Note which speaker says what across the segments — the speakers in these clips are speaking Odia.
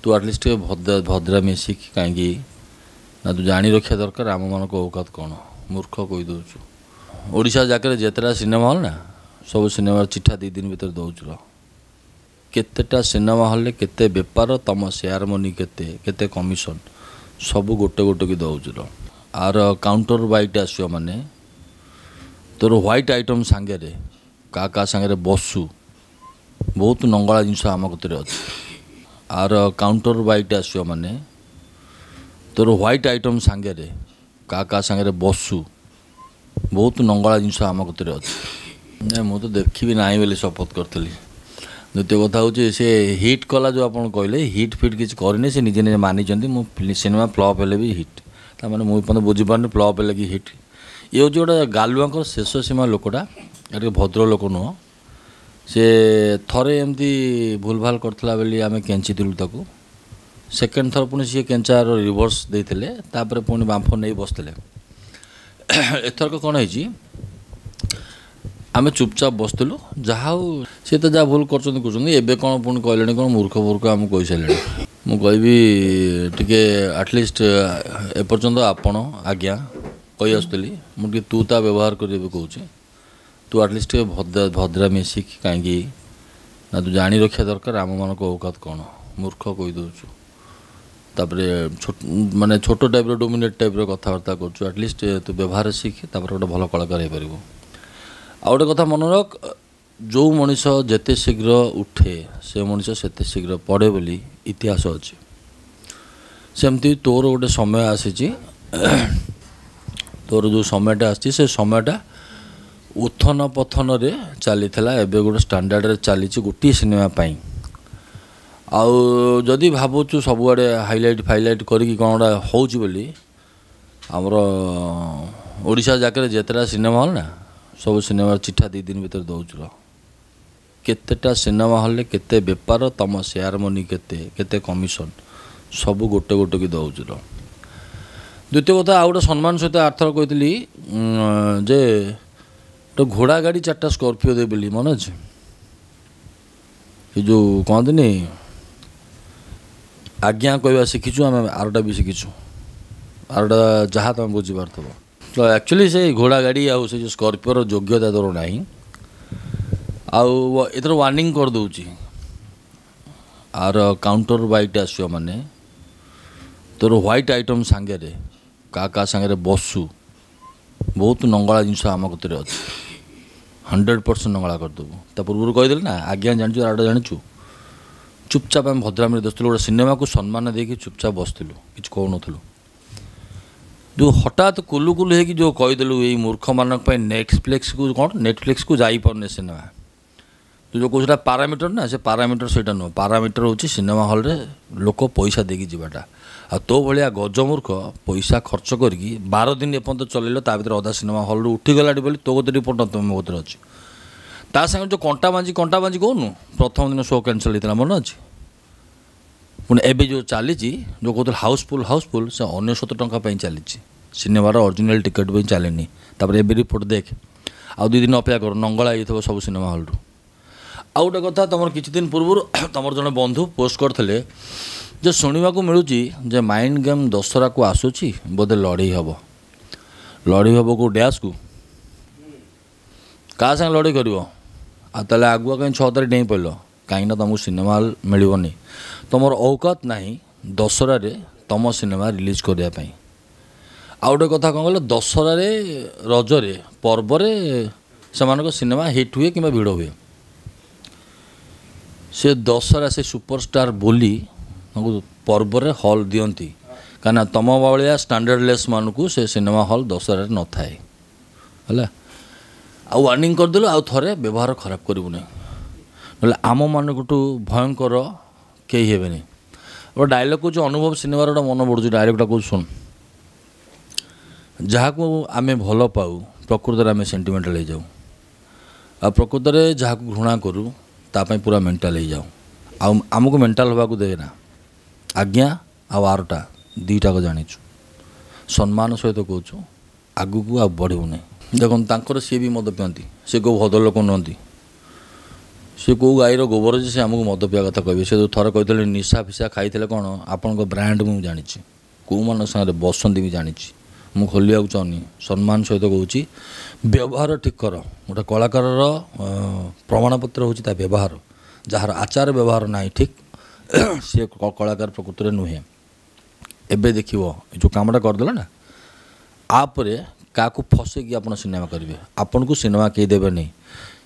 Speaker 1: ତୁ ଆଟଲିଷ୍ଟ ଟିକେ ଭଦ୍ରାମି ଶିଖ। କାହିଁକି ନା ତୁ ଜାଣି ରଖିବା ଦରକାର ଆମମାନଙ୍କ ଔକାତ କ'ଣ। ମୂର୍ଖ କହିଦେଉଛୁ। ଓଡ଼ିଶା ଯାକରେ ଯେତେଟା ସିନେମା ହଲ୍ ନା, ସବୁ ସିନେମାର ଚିଠା 2 ଦିନ ଭିତରେ ଦେଉଛୁ। କେତେଟା ସିନେମା ହଲ୍ରେ କେତେ ବେପାର, ତୁମ ସେୟାର ମନି କେତେ, କେତେ କମିଶନ୍, ସବୁ ଗୋଟେ ଗୋଟେ କି ଦେଉଛୁ। ଆର କାଉଣ୍ଟର ବାଇଟ୍ ଆସିବ, ମାନେ ତୋର ହ୍ୱାଇଟ୍ ଆଇଟମ୍ ସାଙ୍ଗରେ କାହା କାହା ସାଙ୍ଗରେ ବସୁ, ବହୁତ ନଙ୍ଗଳା ଜିନିଷ ଆମ କତିରେ ଅଛି। ଆର କାଉଣ୍ଟର ବାଇଟ୍ ଆସିବ, ମାନେ ତୋର ହ୍ୱାଇଟ୍ ଆଇଟମ୍ ସାଙ୍ଗରେ କାହା କାହା ସାଙ୍ଗରେ ବସୁ, ବହୁତ ନଙ୍ଗଳା ଜିନିଷ ଆମ କତିରେ ଅଛି। ନାଇଁ, ମୁଁ ତ ଦେଖିବି ନାହିଁ ବୋଲି ଶପଥ କରିଥିଲି। ଦ୍ୱିତୀୟ କଥା ହେଉଛି, ସେ ହିଟ୍ କଲା ଯେଉଁ ଆପଣ କହିଲେ, ହିଟ୍ ଫିଟ୍ କିଛି କରିନି। ସେ ନିଜେ ନିଜେ ମାନିଛନ୍ତି, ମୁଁ ସିନେମା ଫ୍ଲପ୍ ହେଲେ ବି ହିଟ୍। ତାମାନେ ମୁଁ ଏପର୍ଯ୍ୟନ୍ତ ବୁଝିପାରୁନି ଫ୍ଲପ୍ ହେଲେ କି ହିଟ୍। ଇଏ ହେଉଛି ଗୋଟେ ଗାଲୁଆଙ୍କର ଶେଷ ସୀମା ଲୋକଟା, ଟିକେ ଭଦ୍ର ଲୋକ ନୁହଁ। ସେ ଥରେ ଏମିତି ଭୁଲଭାଲ କରିଥିଲା ବୋଲି ଆମେ କେଞ୍ଚିଥିଲୁ ତାକୁ। ସେକେଣ୍ଡ ଥର ପୁଣି ସିଏ କେଞ୍ଚାର ରିଭର୍ସ ଦେଇଥିଲେ, ତାପରେ ପୁଣି ବାମ୍ଫ ନେଇ ବସିଥିଲେ। ଏଥରକ କ'ଣ ହେଇଛି, ଆମେ ଚୁପଚାପ ବସିଥିଲୁ। ଯାହା ହଉ, ସିଏ ତ ଯାହା ଭୁଲ କରୁଛନ୍ତି କରୁଛନ୍ତି, ଏବେ କ'ଣ ପୁଣି କହିଲେଣି କ'ଣ ମୂର୍ଖ ମୂର୍ଖ ଆମକୁ କହିସାରିଲେଣି। ମୁଁ କହିବି ଟିକେ ଆଟଲିଷ୍ଟ ଏପର୍ଯ୍ୟନ୍ତ ଆପଣ ଆଜ୍ଞା କହି ଆସୁଥିଲି, ମୁଁ ଟିକେ ତୁ ତା ବ୍ୟବହାର କରି ଏବେ କହୁଛି। ତୁ ଆଟଲିଷ୍ଟ ଟିକେ ଭଦ୍ରାମି ଶିଖ। କାହିଁକି ନା ତୁ ଜାଣି ରଖିବା ଦରକାର ଆମମାନଙ୍କ ଔକାତ କ'ଣ। ମୂର୍ଖ କହିଦେଉଛୁ। ତାପରେ ମାନେ ଛୋଟ ଟାଇପ୍ର ଡୋମିନେଟ୍ ଟାଇପ୍ର କଥାବାର୍ତ୍ତା କରୁଛୁ। ଆଟଲିଷ୍ଟ ତୁ ବ୍ୟବହାର ଶିଖ, ତାପରେ ଗୋଟେ ଭଲ କଳାକାର ହେଇପାରିବୁ। ଆଉ ଗୋଟେ କଥା ମନେ ରଖ, ଯେଉଁ ମଣିଷ ଯେତେ ଶୀଘ୍ର ଉଠେ ସେ ମଣିଷ ସେତେ ଶୀଘ୍ର ପଡ଼େ ବୋଲି ଇତିହାସ ଅଛି। ସେମିତି ତୋର ଗୋଟେ ସମୟ ଆସିଛି। ତୋର ଯେଉଁ ସମୟଟା ଆସିଛି, ସେ ସମୟଟା ଉତ୍ଥାନ ପତନରେ ଚାଲିଥିଲା, ଏବେ ଗୋଟେ ଷ୍ଟାଣ୍ଡାର୍ଡ଼ରେ ଚାଲିଛି ଗୋଟିଏ ସିନେମା ପାଇଁ। ଆଉ ଯଦି ଭାବୁଛୁ ସବୁଆଡ଼େ ହାଇଲାଇଟ୍ ଫାଇଲାଇଟ୍ କରିକି କ'ଣ ଗୋଟେ ହେଉଛି ବୋଲି, ଆମର ଓଡ଼ିଶା ଯାକରେ ଯେତେଟା ସିନେମା ହଲ୍ ନା, ସବୁ ସିନେମାର ଚିଠା 2 ଦିନ ଭିତରେ ଦେଉଛୁ। କେତେଟା ସିନେମା ହଲ୍ରେ କେତେ ବେପାର, ତୁମ ସେୟାର ମନି କେତେ, କେତେ କମିଶନ୍, ସବୁ ଗୋଟେ ଗୋଟେ କି ଦେଉଛୁ। ଦ୍ୱିତୀୟ କଥା, ଆଉ ଗୋଟେ ସମ୍ମାନ ସହିତ ଆରଥର କହିଥିଲି ଯେ ଗୋଟେ ଘୋଡ଼ା ଗାଡ଼ି 4ଟା ସ୍କର୍ପିଓ ଦେବି ବୋଲି, ମନେ ଅଛି? ଏ ଯେଉଁ କହନ୍ତିନି, ଆଜ୍ଞା କହିବା ଶିଖିଛୁ ଆମେ, ଆରଟା ବି ଶିଖିଛୁ। ଆରଟା ଯାହା ତୁମେ ବୁଝିପାରୁଥିବ। ତ ଆକ୍ଚୁଆଲି ସେ ଘୋଡ଼ା ଗାଡ଼ି ଆଉ ସେ ଯେଉଁ ସ୍କର୍ପିଓର ଯୋଗ୍ୟତା ତୋର ନାହିଁ। ଆଉ ଏଥର ୱାର୍ଣ୍ଣିଂ କରିଦେଉଛି, ଆର କାଉଣ୍ଟର ବାଇଟ୍ ଆସିବ, ମାନେ ତୋର ହ୍ୱାଇଟ୍ ଆଇଟମ୍ ସାଙ୍ଗରେ କାହା କାହା ସାଙ୍ଗରେ ବସୁ, ବହୁତ ନଙ୍ଗଳା ଜିନିଷ ଆମ କତିରେ ଅଛି। 100% ନଙ୍ଗଳା କରିଦେବୁ। ତା ପୂର୍ବରୁ କହିଦେଲି ନା, ଆଜ୍ଞା ଜାଣିଛୁ, ଆରଟା ଜାଣିଛୁ। ଚୁପଚାପ ଆମେ ଭଦ୍ରାମିରେ ବସିଥିଲୁ, ଗୋଟେ ସିନେମାକୁ ସମ୍ମାନ ଦେଇକି ଚୁପଚାପ ବସିଥିଲୁ, କିଛି କହୁନଥିଲୁ। ଯେଉଁ ହଠାତ୍ କୁଲୁ କୁଲୁ ହେଇକି ଯେଉଁ କହିଦେଲୁ, ଏଇ ମୂର୍ଖମାନଙ୍କ ପାଇଁ ନେଟଫ୍ଲିକ୍ସକୁ କ'ଣ ନେଟଫ୍ଲିକ୍ସକୁ ଯାଇପାରୁନି ସିନେମା। ତୁ ଯେଉଁ କହୁଛୁ ପାରାମିଟର ନା, ସେ ପାରାମିଟର ସେଇଟା ନୁହଁ। ପାରାମିଟର ହେଉଛି ସିନେମା ହଲ୍ରେ ଲୋକ ପଇସା ଦେଇକି ଯିବାଟା। ଆଉ ତୋ ଭଳିଆ ଗଜମୂର୍ଖ ପଇସା ଖର୍ଚ୍ଚ କରିକି 12 ଦିନ ଏପର୍ଯ୍ୟନ୍ତ ଚଲେଇଲ, ତା ଭିତରେ ଅଧା ସିନେମା ହଲ୍ରୁ ଉଠିଗଲାଣି ବୋଲି ତୋ କତିରେ ରିପୋର୍ଟ ନଥିବ, ମୋ କତିରେ ଅଛି। ତା ସାଙ୍ଗରେ ଯେଉଁ କଣ୍ଟା ବାଞ୍ଜି କଣ୍ଟା ବାଞ୍ଜି କହୁନୁ, ପ୍ରଥମ ଦିନ ଶୋ କ୍ୟାନସଲ୍ ହେଇଥିଲା, ମନେ ଅଛି? ପୁଣି ଏବେ ଯେଉଁ ଚାଲିଛି, ଯେଉଁ କହୁଥିଲେ ହାଉସଫୁଲ୍ ହାଉସଫୁଲ୍, ସେ 99 ଟଙ୍କା ପାଇଁ ଚାଲିଛି, ସିନେମାର ଅରିଜିନାଲ୍ ଟିକେଟ୍ ପାଇଁ ଚାଲିନି। ତାପରେ ଏବେ ରିପୋର୍ଟ ଦେଖ, ଆଉ 2 ଦିନ ଅପେକ୍ଷା କର, ନଙ୍ଗଳା ହେଇଥିବ ସବୁ ସିନେମା ହଲ୍ରୁ। ଆଉ ଗୋଟେ କଥା, ତୁମର କିଛି ଦିନ ପୂର୍ବରୁ ତୁମର ଜଣେ ବନ୍ଧୁ ପୋଷ୍ଟ କରିଥିଲେ ଯେ ଶୁଣିବାକୁ ମିଳୁଛି ଯେ ମାଇଣ୍ଡ ଗେମ୍ ଦଶହରାକୁ ଆସୁଛି, ବୋଧେ ଲଢ଼େଇ ହେବ। ଲଢ଼େଇ ହେବ କେଉଁ ଡ୍ୟାସ୍କୁ, କାହା ସାଙ୍ଗେ ଲଢ଼େଇ କରିବ? ଆଉ ତାହେଲେ ଆଗୁଆ କାହିଁ 6 ତାରିଖ ଡେଇଁ ପଡ଼ିଲ? କାହିଁକିନା ତୁମକୁ ସିନେମା ହଲ୍ ମିଳିବନି, ତୁମର ଔକାତ ନାହିଁ ଦଶହରାରେ ତୁମ ସିନେମା ରିଲିଜ୍ କରିବା ପାଇଁ। ଆଉ ଗୋଟେ କଥା କ'ଣ କହିଲ, ଦଶହରାରେ, ରଜରେ, ପର୍ବରେ ସେମାନଙ୍କ ସିନେମା ହିଟ୍ ହୁଏ କିମ୍ବା ଭିଡ଼ ହୁଏ। ସେ ଦଶହରା ସେ ସୁପରଷ୍ଟାର ବୋଲି ତାଙ୍କୁ ପର୍ବରେ ହଲ୍ ଦିଅନ୍ତି, କାହିଁକିନା ତୁମ ଭଳିଆ ଷ୍ଟାଣ୍ଡାର୍ଡ଼ଲେସ୍ ମାନଙ୍କୁ ସେ ସିନେମା ହଲ୍ ଦଶହରାରେ ନଥାଏ। ହେଲା, ଆଉ ୱାର୍ଣ୍ଣିଂ କରିଦେଲୁ, ଆଉ ଥରେ ବ୍ୟବହାର ଖରାପ କରିବୁନି, ନହେଲେ ଆମମାନଙ୍କଠୁ ଭୟଙ୍କର କେହି ହେବେନି। ଗୋଟେ ଡାଇଲଗ୍ କହୁଛି, ଅନୁଭବ ସିନେମାର ଗୋଟେ ମନେ ପଡ଼ୁଛି ଡାଇଲଗ୍ଟା କହୁଛି, ଶୁଣ। ଯାହାକୁ ଆମେ ଭଲ ପାଉ ପ୍ରକୃତରେ ଆମେ ସେଣ୍ଟିମେଣ୍ଟାଲ୍ ହେଇଯାଉ, ଆଉ ପ୍ରକୃତରେ ଯାହାକୁ ଘୃଣା କରୁ ତା ପାଇଁ ପୁରା ମେଣ୍ଟାଲ୍ ହେଇଯାଉ। ଆଉ ଆମକୁ ମେଣ୍ଟାଲ୍ ହେବାକୁ ଦେବେନା। ଆଜ୍ଞା ଆଉ ଆରଟା ଦୁଇଟାକ ଜାଣିଛୁ, ସମ୍ମାନ ସହିତ କହୁଛୁ, ଆଗକୁ ଆଉ ବଢ଼ିବୁନି। ଦେଖନ୍ତୁ, ତାଙ୍କର ସିଏ ବି ମଦ ପିଅନ୍ତି, ସେ କେଉଁ ଭଦ୍ରଲୋକ ନୁହନ୍ତି। ସେ କେଉଁ ଗାଈର ଗୋବର ଯେ ସେ ଆମକୁ ମଦ ପିଇବା କଥା କହିବେ। ସେ ଯେଉଁ ଥରେ କହିଥିଲେ ନିଶା ଫିସା ଖାଇଥିଲେ କ'ଣ, ଆପଣଙ୍କ ବ୍ରାଣ୍ଡ ମୁଁ ଜାଣିଛି, କେଉଁମାନଙ୍କ ସାଙ୍ଗରେ ବସନ୍ତି ବି ଜାଣିଛି। ମୁଁ ଖୋଲିବାକୁ ଚାହୁଁନି, ସମ୍ମାନ ସହିତ କହୁଛି, ବ୍ୟବହାର ଠିକ୍ କର। ଗୋଟେ କଳାକାରର ପ୍ରମାଣପତ୍ର ହେଉଛି ତା ବ୍ୟବହାର। ଯାହାର ଆଚାର ବ୍ୟବହାର ନାହିଁ ଠିକ୍, ସିଏ କଳାକାର ପ୍ରକୃତରେ ନୁହେଁ। ଏବେ ଦେଖିବ ଏ ଯେଉଁ କାମଟା କରିଦେଲ ନା, ଆପରେ କାହାକୁ ଫସେଇକି ଆପଣ ସିନେମା କରିବେ, ଆପଣଙ୍କୁ ସିନେମା କେହି ଦେବେନି।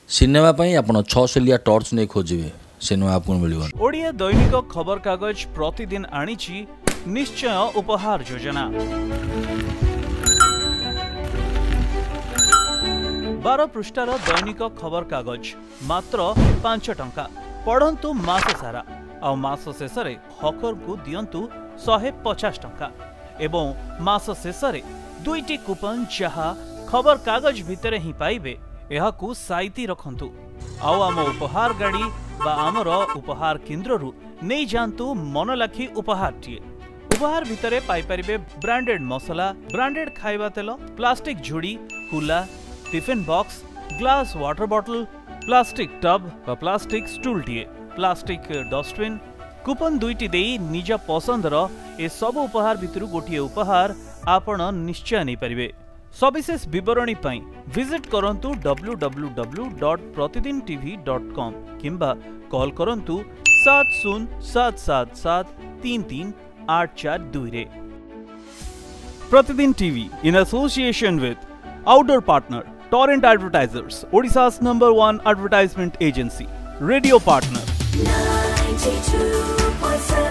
Speaker 1: ସିନେମା ପାଇଁ ଆପଣ 6 ସେଲିଆ ଟର୍ଚ୍ଚ ନେଇ ଖୋଜିବେ, ସିନେମା ଆପଣଙ୍କୁ ମିଳିବନି।
Speaker 2: ଓଡ଼ିଆ ଦୈନିକ ଖବରକାଗଜ ପ୍ରତିଦିନ ଆଣିଛି ନିଶ୍ଚୟ ଉପହାର ଯୋଜନା। 12 ପୃଷ୍ଠାର ଦୈନିକ ଖବରକାଗଜ ମାତ୍ର 5 ଟଙ୍କା। ପଢ଼ନ୍ତୁ ମାସ ସାରା, ଆଉ ମାସ ଶେଷରେ ହକରଙ୍କୁ ଦିଅନ୍ତୁ 150 ଟଙ୍କା ଏବଂ ମାସ ଶେଷରେ 2ଟି କୁପନ ଯାହା ଖବରକାଗଜ ଭିତରେ ହିଁ ପାଇବେ, ଏହାକୁ ସାଇତି ରଖନ୍ତୁ ଆଉ ଆମ ଉପହାର ଗାଡ଼ି ବା ଆମର ଉପହାର କେନ୍ଦ୍ରରୁ ନେଇଯାଆନ୍ତୁ ମନଲାଖି ଉପହାରଟିଏ। ଉପହାର ଭିତରେ ପାଇପାରିବେ ବ୍ରାଣ୍ଡେଡ୍ ମସଲା, ବ୍ରାଣ୍ଡେଡ୍ ଖାଇବା ତେଲ, ପ୍ଲାଷ୍ଟିକ୍ ଝୁଡ଼ି, କୁଲା, tiffin box, glass water bottle, plastic tub ବା ପ୍ଲାଷ୍ଟିକ୍ ଷ୍ଟୁଲଟିଏ, ପ୍ଲାଷ୍ଟିକ୍ ଡଷ୍ଟବିନ୍। କୁପନ 2ଟି ଦେଇ ନିଜ ପସନ୍ଦର ଏସବୁ ଉପହାର ଭିତରୁ ଗୋଟିଏ ଉପହାର ଆପଣ ନିଶ୍ଚୟ ନେଇପାରିବେ। ସବିଶେଷ ବିବରଣୀ ପାଇଁ ଭିଜିଟ୍ କରନ୍ତୁ www.pratidintv.com କିମ୍ବା କଲ୍ କରନ୍ତୁ 7 0 7 7 7 3 3 8 4 2ରେ। Pratidin TV in association with outdoor partner Torrent Advertisers, Odisha's #1 advertisement agency, radio partner.
Speaker 3: 92.7